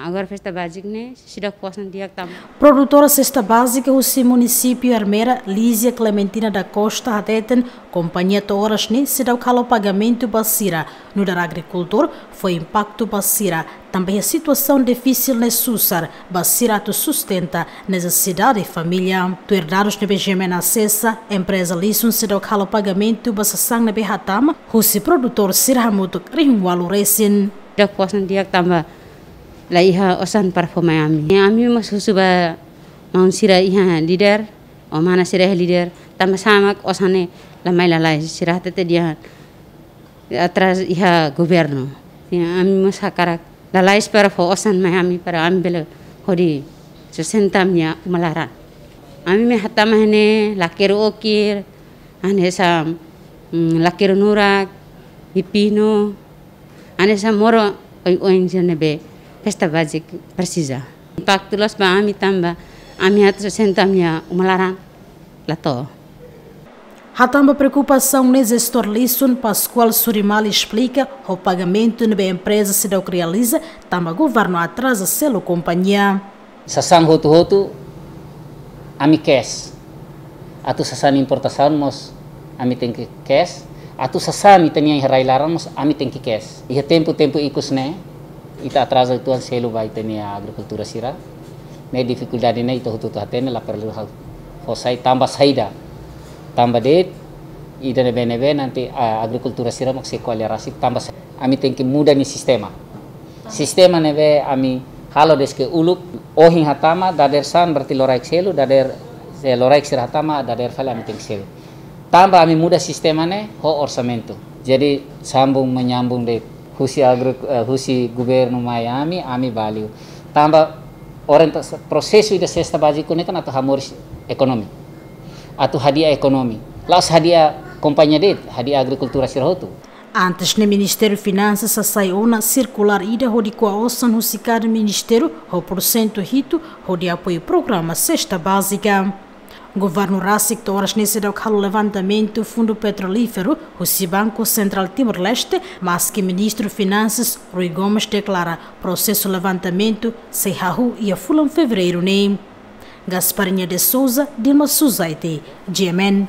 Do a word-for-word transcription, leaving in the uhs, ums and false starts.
Agora festa básica ne'e seidauk fó osan di'ak tanba. Produtora sesta bázika husi munisípiu Ermera, Lízia Clementina da Costa, hateten kompañia to'o oras ne'e seidauk halo pagamentu ba sira, nu'udar agrikultór fó impaktu ba sira, tanba iha situasaun difisil ne'e susar ba sira atu sustenta nesesidade família. Tuir dadus ne'ebé GMN asesa, empreza Lisun seidauk halo pagamentu ba sasán ne'ebé hatama husi produtór sira hamutuk rihun ualu resin. Seidauk fó osan di'ak tanba la iha osan para fó mai ami. Ami mós husu ba maun sira iha líder, ou mana sira iha líder, tanba sá mak osan ne'e la mai lalais, sira hatete dehan atrazu iha governu. Ya, ami mós hakarak lalais para fó osan mai ami para ami bele hodi sustenta ami-nia uma laran. Ami mai hatama iha ne'e lakeru okir, hanesan, mm, lakeru nurak, pipinu, hanesan moro oioin sira ne'ebé festa bázika presiza. Impaktu loos ba ami tanba ami atu sustenta ami-nia uma laran la to'o. Hatán ba preokupasaun ne'e, jestór Lisun, Pascoal Surimali, esplika ho pagamentu ne'ebé empreza seidauk realiza tanba governu atraza selu kompañia. Sasán hotu-hotu ami cash. Atu sasán importasaun mós ami tenke cash. Atu sasán ita-nia iha rai-laran mós ami tenke cash. Iha tempu-tempu ikus ne'e, ita atraza uitoan selu ba ita-nia agrikultór sira. Ne'e difikuldade ne'e ita hotu-hotu hatene, la perlu ha'u fó sai tanba saida. Tanba de'it, ida ne'ebé-ne'ebé nanti, ah, agrikultór sira mak sei ko'alia rasik tanba sa-, ami tenke muda nia sistema. Sistema ne'ebé ami halo de'it ke uluk, ohin hatama, dadeer-saan berarti loraik selu, dadeer, eh, loraik sira hatama, dadeer fali ami tenke selu. Tanba ami muda sistema ne'e ho orsamentu. Jadi sambung menyambung de'it husi agri-, eh, husi governu mai ami, ami ba liu. Tanba orienta-, prosesu ida sesta bázika ne'e kan atu hamoris ekonomi. Atu hadi'a ekonomi. La'ós hadi'a kompañia de'it, hadi'a agrikultór sira hotu. Antes ne'e Ministériu Finansas hasai ona sirkulár ida hodi ko'a osan husi kada ministériu ho porsentu hitu hodi apoiu programa sesta bázika. Governu rasik to'o oras ne'e seidauk halo levantamentu fundu petrolíferu husi Banku Sentrál Timor-Leste, maski Ministru Finansas Rui Gomes deklara prosesu levantamentu sei hahú iha fulan Fevereiru ne'e. Gasparinha de Souza, Dilma Suzaite, GMN.